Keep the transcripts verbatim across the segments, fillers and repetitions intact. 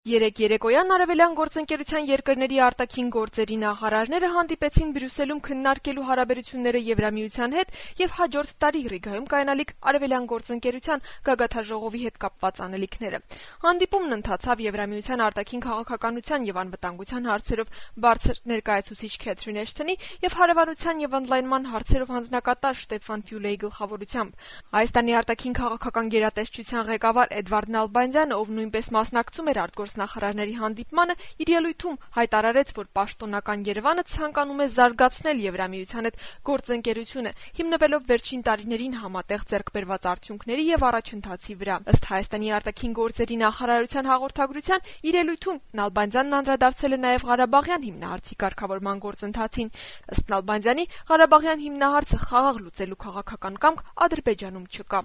Երեկ երեկոյան Արևելյան գործընկերության երկրների արտաքին գործերի նախարարները հանդիպեցին Բրյուսելում քննարկելու հարաբերությունները Եվրամիության հետ և հաջորդ տարի Ռիգայում կայանալիք Արևելյան գործընկերության գագաթնաժողովի հետ կապված անելիքները։ Հանդիպումն ընթացավ Եվրամիության արտաքին քաղաքականության և անվտանգության հարցերով բարձր ներկայացուցիչ Քեթրին Էշթոնի և հարևանության և ընդլայնման հարցերով հանձնակատար Շտեֆան Ֆյուլեի գլխավորությամբ։ Հայաստանի արտաքին քաղաքական գերատեսչության ղեկավար Էդվարդ Նալբանդյանը, ով նույնպես մասնակցում էր արտգործնախարարների հանդիպմանը, իր ելույթում հայտարարեց, որ պաշտոնական Երևանը ցանկանում է զարգացնել Եվրամիության հետ գործընկերությունը, հիմնվելով վերջին տարիներին համատեղ ձեռք բերված արդյունքների և առաջընթացի վրա։ Ըստ Հայաստանի արտաքին գործերի նախարարության հաղորդագրության, իր ելույթում Նալբանդյանն անդրադարձել է նաև Ղարաբաղյան հիմնահարցի կարգավորման գործընթացին։ Ըստ Նալբանդյանի, Ղարաբաղյան հիմնահարցը խաղաղ լուծելու քաղաքական կամք Ադրբեջանում չկա։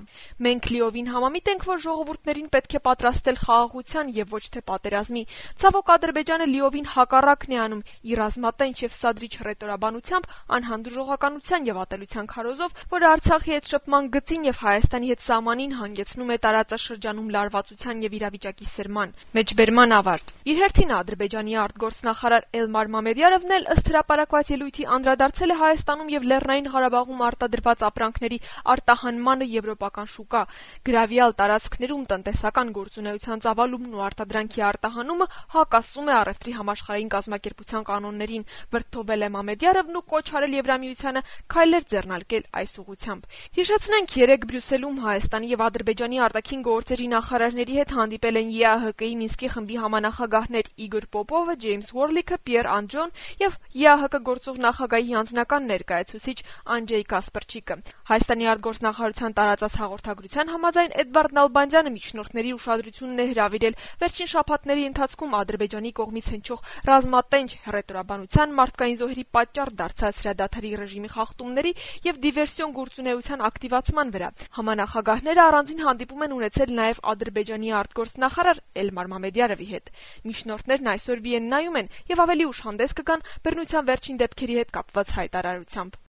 Մենք լիովին համամիտ ենք, որ ժողովուրդներին պետք է պատրաստել խաղաղության և ոչ թե պատերազմի։ Ցավոք, Ադրբեջանը լիովին հակառակն է անում՝ իր ռազմատենչ և սադրիչ հռետորաբանությամբ, անհանդուրժողականության և ատելության քարոզով, որը Արցախի հետ շփման գծին և Հայաստանի հետ սահմանին հանգեցնում է տարածաշրջանում լարվածության և իրավիճակի սրման։ Մեջբերման ավարտ։ Իր հերթին Ադրբեջանի արտգործնախարար Էլմար Մամեդյարովն էլ ըստ հրապարակված ելույթի անդրադարձել է Հայաստանում և Լեռնային Ղարաբաղում արտադրված ապրանքների արտահանմանը եվրոպական շուկա։ Գրավյալ տարածքներում տնտեսական գործունեության ծավալումն ու արտադրանքի արտահանումը հակասում է առևտրի համաշխարհային կազմակերպության կանոններին, վրդովել է Մամեդյարովն ու կոչ արել Եվրամիությանը քայլեր ձեռնարկել այս ուղղությամբ։ Հիշեցնենք, երեկ Բրյուսելում Հայաստանի և Ադրբեջանի արտաքին գործերի նախարարների հետ հանդիպել են ԵԱՀԿ-ի Մինսկի խմբի համանախագահներ Իգոր Պոպովը, Ջեյմս Ուորլիքը, Պիեր Անդրոն և ԵԱՀԿ գործող նախագահի անձնական ներկայացուցիչ Անջեյ Կասպրչիկը։ Հայաստանի արտգործնախարարության տարածած հաղորդագրության համաձայն Էդվարդ Նալբանդյանը միջնորդների ուշադրությունն է հրավիրել վերջին շաբաթների ընթացքում Ադրբեջանի կողմից հնչող ռազմատենչ հռետորաբանության, մարդկային զոհերի պատճառ դարձած հրադադարի ռեժիմի խախտումների և դիվերսիոն գործունեության ակտիվացման վրա։ Համանախագահները առանձին հանդիպում են ունեցել նաև Ադրբեջանի արտգործնախարար Էլմար Մամեդյարովի հետ։ Միջնորդներն այսօր Վիեննայում են և ավելի ուշ հանդես կգան բռնության վերջին դեպքերի հետ կապված հայտարարությամբ։